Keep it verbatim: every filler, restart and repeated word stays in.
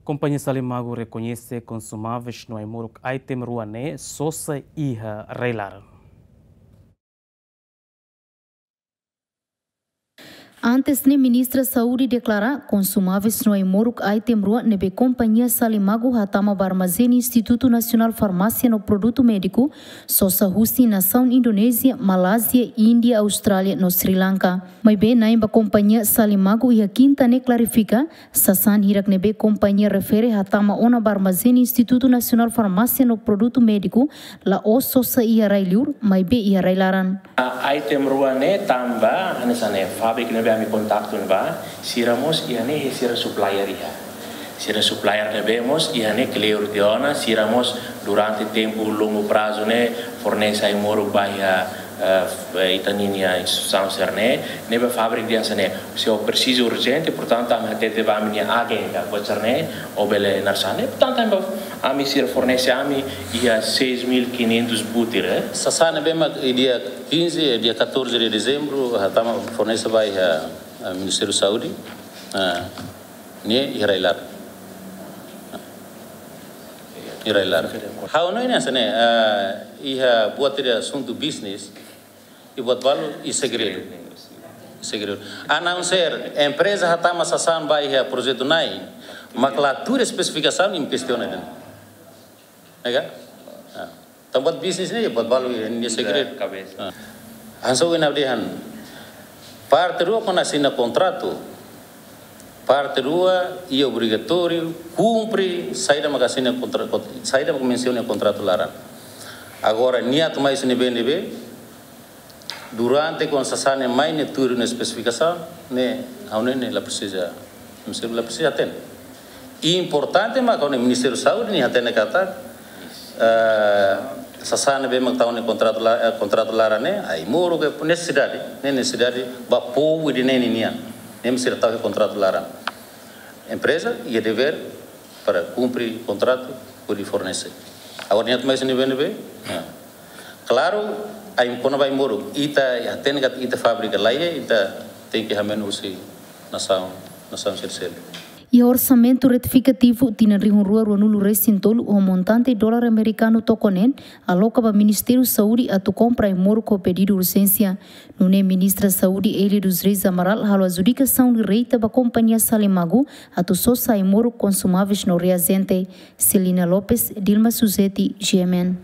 Kompañia Salimagu rekoñese konsumáveis no ai-moruk item rua ne'e sosa iha rai-laran. Antes ne'e, Ministra Saúde deklara konsumáveis no ai-moruk item rua ne'ebé Kompañia Salimagu hatama ba armazén Institutu Nasionál Farmásia no Produtu Médiku sosa husi nasaun Indonézia, Malázia, Índia, Austrália no Sri Lanka. Maibé na'in ba Kompañia Salimagu iha kinta ne'e klarifika, sasán hirak ne'ebé kompañia refere hatama ona ba armazén Institutu Nasionál Farmásia no Produtu Médiku la'ós sosa iha rai-liur, maibé iha rai-laran. A item rua ne'e tanba, hanesan ne'e, fábrika ne'ebé ami kontaktu ne'ebá, sira mós iha ne'e sira supplier iha. Sira supplier ne'ebé mós iha ne'e kleur tiha ona, sira mós durante tempu longu prazu ne'e fornese ai-moruk ba iha, eh, f-, eh, ita-nia instituisaun sira-ne'e, ne'ebé fábrika dehan hanesan ne'e, se ó presiza urjente, portantu, ami hatete ba ami-nia agen ka, buat sira-ne'e, ó bele naran hanesan ne'e, portantu, ami, ami sira fornese ami iha seis mil quinhentos butir, eh. Sasán ne'ebé mak dia quinze, dia catorze de dezembro, hatama fornese ba iha, eh, Ministériu Saúde, eh, ne'e iha rai-laran. Iha rai-laran. Ha'u hanoin hanesan ne'e, eh, iha buat ida asuntu bisnis, i buat balu i segredu. Segredu. A não ser empreza hatama sasán ba iha projetu na'in, mak la tuir espesifikasaun, imi kestiona de'it. Ne'e ka? Ah. Tanba buat bisnis ne'e, buat balu ne'e segredu. Kabesa. Ah. Hanesan ohin ha'u dehan, parte rua kuandu asina kontratu, parte rua iha obrigatóriu kumpre saida mak asina kontra-, kont-, saida mak mensiona iha kontratu laran. Agora, nia atu mai sini bende be, durante kuandu sasán ne'e mai ne'e tuir nia espesifikasaun, ne'e, ha'u hanoin ne'e la presiza, mesti la presiza hatene. Importante mak ha'u hanoin Ministériu Saúde nia hatene katak, eh, sasán ne'ebé mak tau iha kontratu la-, eh, kontratu laran ne'e, ai-moruk, nesesidade, ne'e nesesidade ba povu ida-ne'e nian. Ne'e mesti tau iha kontratu laran. Empreza iha devér para kumpre kontratu hodi fornese. Agora nia atu mai sini bende be. Nah. Klaru, ai-, kona-ba ai-moruk, ita hatene katak ita fábrika la iha, ita tenke hameno husi nasaun, nasaun sira seluk. Iha orsamentu retifikativu tinan rihun rua ruanulu resin tolu ho montante dolar amerikanu tokonen, aloka ba Ministériu Saúde atu kompra ai-moruk ho pedidu urjénsia. Nune'e Ministra Saúde Élia dos Reis Amaral halo adjudikasaun direta ba Kompañia Salimagu atu sosa ai-moruk, konsumáveis no reajente. Celina Lopes, Dilma Suzeti, G M N.